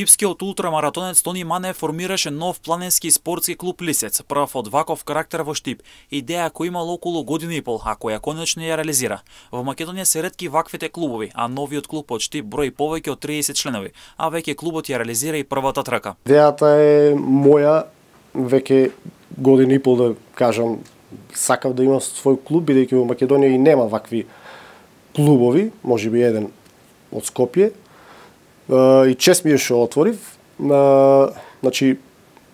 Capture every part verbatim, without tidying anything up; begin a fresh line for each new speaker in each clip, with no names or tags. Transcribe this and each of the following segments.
Типскиот ултрамаратонец Тони Манев формираше нов планински и спортски клуб Лисец, прв од ваков карактер во Штип. Идеја која имала околу година и пол, а која конечно ја реализира. Во Македонија се ретки ваквите клубови, а новиот клуб од Штип брои повеќе од триесет членови, а веќе клубот ја реализира и првата трка.
Идејата е моја, веќе година и пол да кажам, сакав да имам свој клуб, бидејќи во Македонија и нема вакви клубови, можеби еден од Скопје. И чест ми е што отворив. Значи,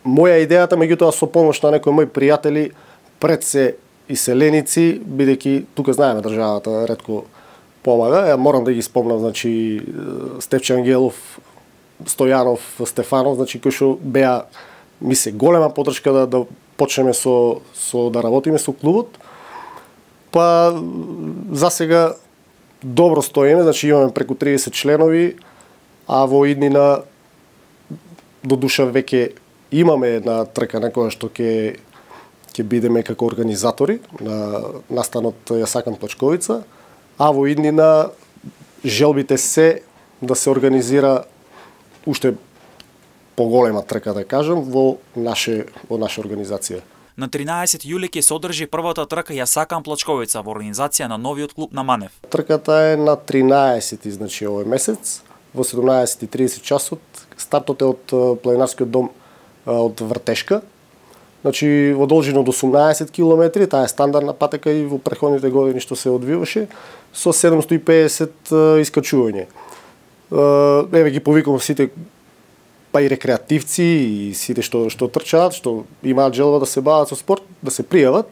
моја идејата, меѓутоа со помош на некои мои пријатели, пред се иселеници, бидејќи тука знаеме државата ретко помага. Ја морам да ги спомнам, значи Стефче Ангелов, Стојанов, Стефанов, значи кои што беа мисли голема поддршка да да почнеме со со да работиме со клубот. Па засега добро стоиме, значи имаме преку триесет членови, а во иднина до душа веќе имаме една трка на која што ќе ќе бидеме како организатори на настанот Ја сакам Плачковица, а во иднина желбите се да се организира уште поголема трка, да кажам, во наше во наша организација.
На тринаесет јули ќе се одржи првата трка Ја сакам Плачковица во организација на новиот клуб на Манев.
Трката е на тринаесети, значи овој месец, во седумнаесет и тридесет часот. Стартот е од планинарскиот дом од Вртешка. Значи во должина од осумнаесет километри, таа е стандардна патека и во претходните години што се одвиваше, со седумстотини и педесет искачување. Еве ги повикувам сите, па и рекреативци и сите што што трчаат, што имаат желба да се бават со спорт, да се пријават.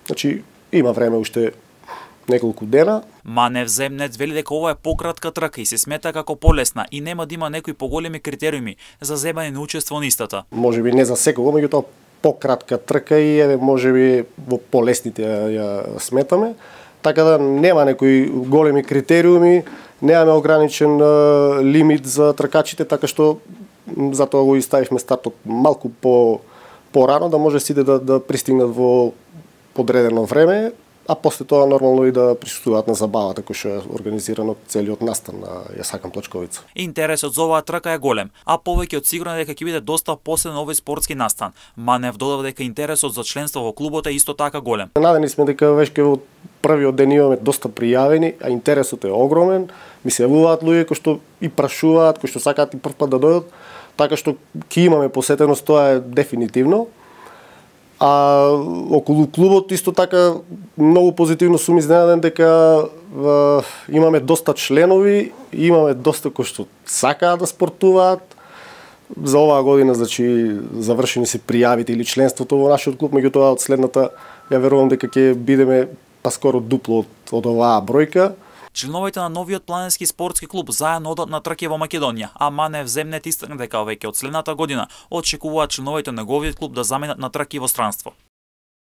Значи има време уште неколку дена.
Манев земнец вели дека ова е пократка трка и се смета како полесна и нема да има некои поголеми критериуми за земање на учество на истата.
Можеби не за секого, меѓутоа пократка трка и еве можеби во полесните ја, ја сметаме. Така да нема некои големи критериуми, немаме ограничен uh, лимит за тркачите, така што затоа го иставивме стартот малку по порано, да може сите да, да пристигнат во подредено време, а после тоа нормално и да присуствуваат на забавата која што е организирано целиот настан на Ја сакам Плачковица.
Интересот за оваа трка е голем, а повеќе од сигурно дека ќе биде доста посебен овој спортски настан. Манев додава дека интересот за членство во клубот е исто така голем.
Надени сме дека веќе во првиот ден имаме доста пријавени, а интересот е огромен. Ми се јавуваат луѓе кои што и прашуваат, кои што сакаат и прв пат да дојдат, така што ќе имаме посетеност, тоа е дефинитивно. А околу клубот исто така многу позитивно сум изненаден дека е, имаме доста членови, имаме доста кои што сакаат да спортуваат. За оваа година, значи, завршени се пријавите или членството во нашиот клуб, меѓутоа од следната ја верувам дека ќе бидеме па скоро дупло од, од оваа бројка.
Членовите на новиот планински спортски клуб заедно одат на трки во Македонија, а Манев земнет истакна дека веќе од следната година очекуваат членовите на неговиот клуб да заменат на трки во странство.